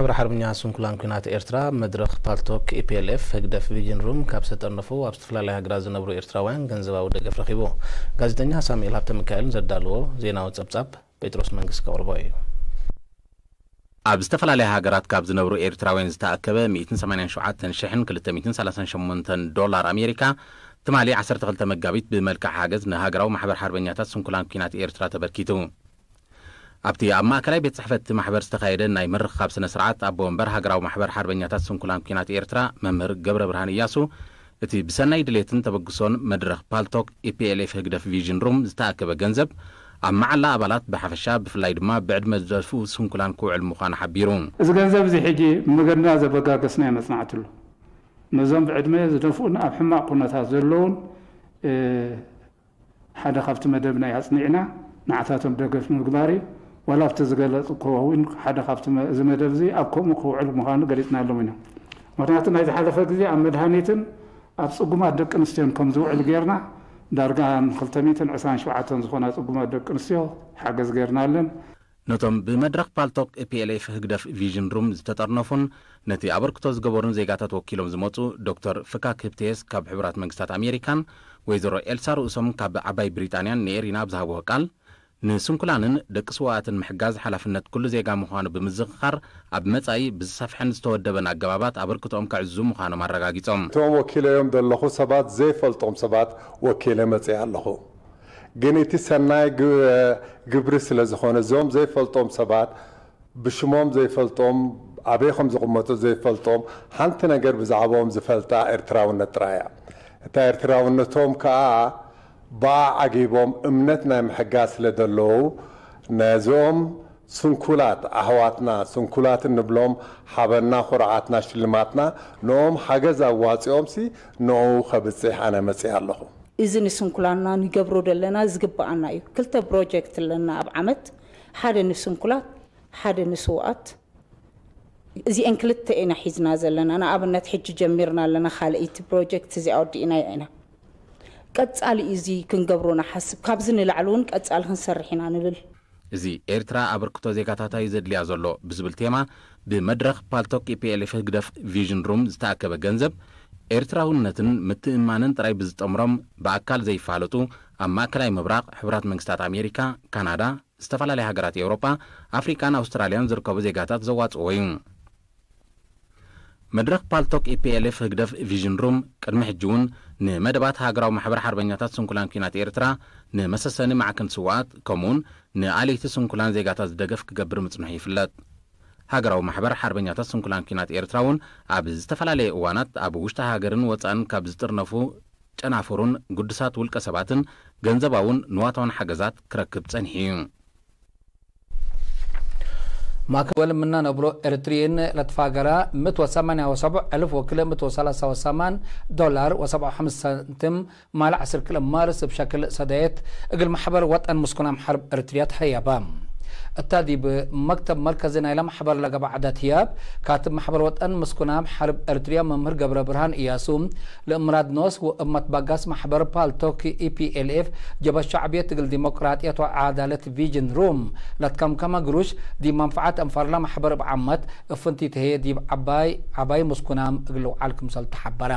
ማሕበር ሓርበኛ ስንኩላን ኲናት ኤርትራ መድረኽ ፓልቶክ ኢፒኤልኤፍ ህግደፍ ቪዥን ሩም ካብ ዝተጠርነፉ ኣብ ዝተፈላለያ ሃገራት ዝነብሩ ኤርትራውያን ገንዘባዊ ደገፍ ረኺቡ። ጋዜጠኛ ሳሙኤል ሃብተሚካኤልን ዘዳለዎ ዜናዊ ጸብጻብ ጴጥሮስ መንግስት ከቕርቦ እዩ። ኣብ ዝተፈላለያ ሃገራት ካብ ዝነብሩ ኤርትራውያን ዝተኣከበ ሚእትን ሰማንያን ሸውዓተን ሽሕን ክልተ ሚእትን ሰላሳን ሸሞንተን ዶላር ኣሜሪካ ትማሊ ዓሰርተ ክልተ መጋቢት ብመልክዕ ሓገዝ ንሃገራዊ ማሕበር ሓርበኛታት ስንኩላን ኲናት ኤርትራ ተበርኪቱ። ኣብቲ ኣብ ማእከላይ ቤት ጽሕፈት እቲ ማሕበር ዝተኻየደ ናይ ምርኽኻብ ስነ ስርዓት ኣቦ ወንበር ሃገራዊ ማሕበር ሓርበኛታት ስንኩላን ኲናት ኤርትራ መምህር ገብረ ብርሃን እያሱ እቲ ብሰናይ ድሌትን ተበግሶን መድረኽ ፓልቶክ ኢፒኤልኤፍ ህግደፍ ቪዥን ሩም ዝተኣከበ ገንዘብ ኣብ መዓላ ኣባላት ብሓፈሻ ብፍላይ ድማ ብዕድመ ዝደፍኡ ስንኩላን ክውዕል ምዃኑ ሓቢሩ። እዚ ገንዘብ እዚ ሕጂ መገድና ዘበጋገስና ይመጽናዕትሉ ነዞም ብዕድመ ዝደፍኡን ኣብ ሕማቕ ኩነታት ዘለውን ሓደ ካብቲ መደብና ኣጽኒዕና ንዓታቶም ደገፍ ንምግባር እዩ። ዋላ ኣብቲ ዝገለጽ እኮ እውን ሓደ ካብቲ መ- እዚ መደብ እዚ ኣብ ከምኡ ክውዕል ምዃኑ ገሊጽናሎም ኢና። ምክንያቱ ናይ ዝሓለፈ ግዜ ኣብ መድሃኒትን ኣብ ጽጉማት ደቂ ኣንስትዮን ከም ዝውዕል ጌርና ዳርጋ ን ክልተ ሚእትን ዕስራን ሸውዓተን ዝኾና ጽጉማት ደቂ ኣንስትዮ ሓገዝ ጌርናለን። ነቶም ብመድረኽ ፓልቶክ ፒኤልኤፍ ህግደፍ ቪዥን ሩም ዝተጠርነፉን ነቲ ኣበርክቶ ዝገበሩን ዜጋታት ወኪሎም ዝመጹ ዶክተር ፍካክ ህብቴስ ካብ ሕቡራት መንግስታት ኣሜሪካን ወይዘሮ ኤልሳ ርእሶም ካብ ዓባይ ብሪጣንያን ንኤሪና ኣብ ዝሃብዎ ቃል፣ ንስንኩላንን ደቂ ስውኣትን ምሕጋዝ ሓላፍነት ኩሉ ዜጋ ምዃኑ ብምዝኽኻር፣ ኣብ መጻኢ ብዝሰፍሐን ዝተወደበን ኣገባባት ኣበርክቶኦም ከዕዝዙ ምዃኖም ኣረጋጊጾም። እቶም ወኪለዮም ዘለኹ ሰባት ዘይፈልጦም ሰባት ወኪለ መጽየ ኣለኹ። ግን እቲ ሰናይ ግ- ግብሪ ስለ ዝኾነ፣ እዞም ዘይፈልጦም ሰባት፣ ብሽሞም ዘይፈልጦም፣ ኣበይ ከም ዝቕመጡ ዘይፈልጦም፣ ሓንቲ ነገር ብዛዕባኦም ዝፈልጣ ኤርትራውነት ጥራይ እያ። እታ ኤርትራውነቶም ከኣ ብኣ ዓጊቦም እምነት ናይ ምሕጋዝ ስለ ዘለዉ፣ ነዞም ስንኩላት ኣሕዋትና፣ ስንኩላት እንብሎም ሓበንና፣ ኩርዓትና፣ ሽልማትና፣ ንኦም ሓገዝ ኣዋጺኦምሲ ንኡ ከብጽሕ ኣነ መጽየ ኣለኹ። እዚ ንስንኩላንና ንገብሮ ዘለና ዝግብኣና እዩ። ክልተ ፕሮጀክት ኣለና ኣብ ዓመት፣ ሓደ ንስንኩላት፣ ሓደ ንስውኣት። እዚአን ክልተ ኢና ሒዝና ዘለና። ንኣብነት ሕጂ ጀሚርና ኣለና፣ ካልኣይቲ ፕሮጀክት እዚኣ ወዲእናዮ ኢና። ቀጻሊ እዩ እዚ ክንገብሮ ንሓስብ። ካብዚ ንላዕሊ እውን ቀጻሊ ክንሰርሕ ኢና ንብል። እዚ ኤርትራ ኣበርክቶ ዜጋታታ እዩ ዘድልያ ዘሎ ብዝብል ቴማ ብመድረኽ ፓልቶክ ኢፒኤልኤፍ ህግደፍ ቪዥን ሩም ዝተኣከበ ገንዘብ ኤርትራውነትን ምትእምማንን ጥራይ ብዝጠምሮም ብኣካል ዘይፋለጡ ኣብ ማእከላይ ምብራቕ፣ ሕቡራት መንግስታት ኣሜሪካ፣ ካናዳ፣ ዝተፈላለያ ሃገራት ኤውሮጳ፣ ኣፍሪቃን ኣውስትራልያን ዝርከቡ ዜጋታት ዘዋጽእዎ እዩ። መድረኽ ፓልቶክ ኢፒኤልኤፍ ህግደፍ ቪዥን ሩም ቅድሚ ሕጂ እውን ንመደባት ሃገራዊ ማሕበር ሓርበኛታት ስንኩላን ኲናት ኤርትራ፣ ንመሰሰኒ ማዕከን ስውኣት፣ ከምኡውን ንኣልይቲ ስንኩላን ዜጋታት ዝደገፍ ክገብር ምጽንሑ ይፍለጥ። ሃገራዊ ማሕበር ሓርበኛታት ስንኩላን ኲናት ኤርትራ እውን ኣብ ዝተፈላለየ እዋናት ኣብ ውሽጢ ሃገርን ወጻእን ካብ ዝጥርነፉ ጨናፍሩን ግዱሳት ውልቀ ሰባትን ገንዘባውን ንዋታውን ሓገዛት ክረክብ ጸኒሑ እዩ። ማእከል ምና ነብሎ ኤርትሪን ለትፋገራ ምት ወሰማንያ ወሰብዕ እልፍ ወክልእ ምት ወሰላሳ ወሰማን ዶላር ወሰብዓ ሓሙሽተ ሳንቲም ማል ዓስር ክልእ ማርስ ብሸክል ሰደየት እግል ማሕበር ወጠን ምስኩናም ሓርብ ኤርትርያ ተኸያባ። እታ ዲብ መክተብ መርከዚ ናይላ ማሕበር ለገባ ዓዳት ህያብ ካትብ ማሕበር ወጠን ምስኩናም ሓርብ ኤርትርያ መምህር ገብረ ብርሃን እያሱ ለእምራድ ኖስ ወእብ መትባጋስ ማሕበር ፓልቶክ ኢፒኤልኤፍ ጀበ ሻዕብየት እግል ዲሞቅራጥየት ወዓዳለት ቪዥን ሩም ለትከምከመ ግሩሽ ዲብ መንፈዓት እንፈርላ ማሕበር እብ ዓመት እፍንቲ ተህየ ዲብ ዓባይ ዓባይ ምስኩናም እግል ውዓል ክምሰል ተሓበረ።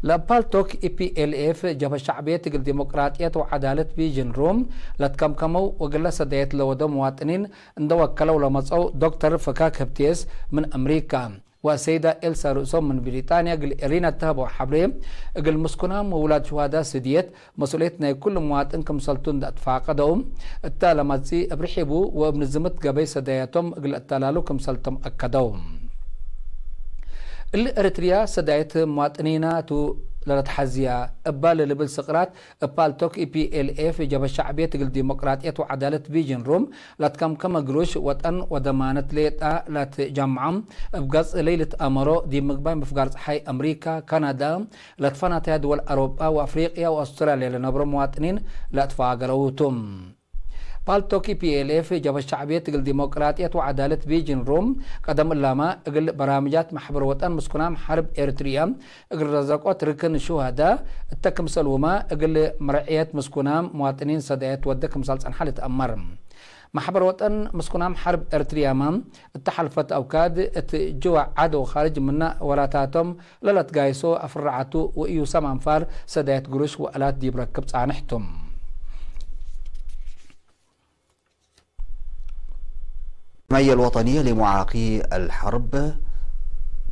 ለፓልቶክ ኢፒኤልኤፍ ጀብሀ ሻዕብየት እግል ዲሞቅራጥየት ወዓዳለት ቪዥን ሩም ለትከምከመው ወግለ ሰዳየት ለወደው መዋጥኒን እንደወከለው ለመጸው ዶክተር ፍካክ ህብቴስ ምን ኣምሪካ ወሰይዳ ኤልሳ ርእሶም ምን ብሪጣንያ እግል ኤሪና እተህበው ሓብሬ እግል ምስኩናም ወውላድ ሽዋዳ ስድየት መስኡልየት ናይ ኩሉ መዋጥን ክምሰልቱ እንዳእትፋቀደው እታ ለመጺ እብ ርሒቡ ወእብ ንዝምት ገበይ ሰዳያቶም እግል እተላሉ ክምሰልቶም ኣከደው። እል ኤርትርያ ሰዳይት መዋጥኒና ቱ ለለትሓዝያ እባ ለልብል ስቅራት እብ ፓልቶክ ኢፒኤልኤፍ ጀበ ሻዕብየት እግል ዲሞቅራጥየት ወዓዳለት ቪዥን ሩም ላትከምከመ ግሩሽ ወጠን ወደማነት ሌጣ ላትጃምዓም እብ ገጽ ለይልት ኣመሮ ዲብ ምግባይ ምፍጋር ጸሓይ ኣምሪካ፣ ካናዳ፣ ለትፈናተያ ድወል ኣሮጳ ወኣፍሪቅያ ወኣውስትራልያ ለነብሮ መዋጥኒን ለእትፋገረውቱ። ፓልቶክ ፒኤልኤፍ ጀበ ሻዕብየት እግል ዲሞቅራጥየት ወዓዳለት ቪጅን ሩም ቀደም እላማ እግል በራምጃት ማሕበር ወጠን ምስኩናም ሓርብ ኤርትርያ እግል ረዘቆት ርክን ሹሃዳ እተ ክምሰል ውማ እግል መርዕየት ምስኩናም መዋጥኒን ሰዳየት ወደ ክምሳል ጸንሓ ልትአመር። ማሕበር ወጠን ምስኩናም ሓርብ ኤርትርያማ እተሓልፈት ኣውካድ እቲ ጅዋ ዓዶ ኻርጅ ምና ወላታቶም ለለት ጋይሶ ኣፍራዓቱ ወእዩ ሰም ኣንፋር ሰዳየት ግሩሽ ወእላት ዲብ ረክብ ጻንሕቱም። الجمعية الوطنية لمعاقي الحرب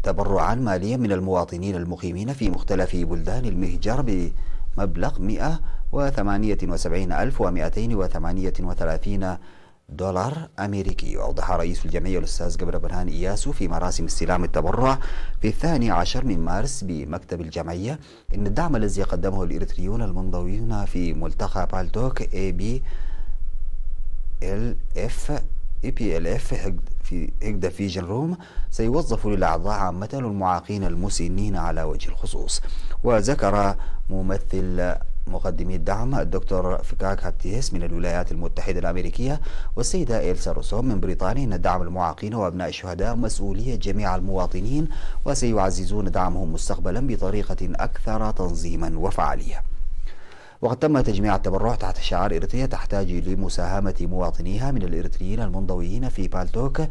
تبرعا ماليا من المواطنين المقيمين في مختلف بلدان المهجر بمبلغ مئة وثمانية وسبعين ألف ومئتين وثمانية وثلاثين دولار أمريكي. وأوضح رئيس الجمعية الأستاذ قبر برهان إياسو في مراسم استلام التبرع في الثاني عشر من مارس بمكتب الجمعية إن الدعم الذي قدمه الإريتريون المنضويون في ملتقى بالتوك A B L F A P L F في هيجدا فيجن روم سيوظف للأعضاء عامة والمعاقين المسنين على وجه الخصوص. وذكر ممثل مقدمي الدعم الدكتور فكاك هابتيس من الولايات المتحدة الأمريكية والسيدة إيلسا روسوم من بريطانيا أن دعم المعاقين وأبناء الشهداء مسؤولية جميع المواطنين، وسيعززون دعمهم مستقبلا بطريقة أكثر تنظيما وفعالية. وقد تم تجميع التبرع تحت شعار إريتريا تحتاج لمساهمة مواطنيها من الإريتريين المنضويين في بالتوك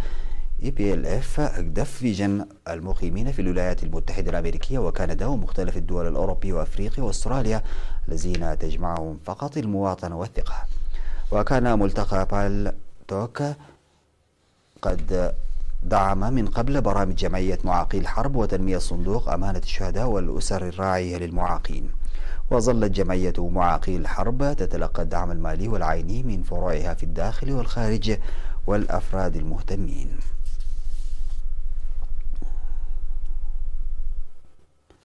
A P L F هيجدا فيجن المقيمين في الولايات المتحدة الأمريكية وكندا ومختلف الدول الأوروبية وأفريقيا وأستراليا، الذين تجمعهم فقط المواطنة والثقة. وكان ملتقى بالتوك قد دعم من قبل برامج جمعية معاقي الحرب وتنمية صندوق أمانة الشهداء والأسر الراعية للمعاقين. وظلت جمعية معاقي الحرب تتلقى الدعم المالي والعيني من فروعها في الداخل والخارج والأفراد المهتمين.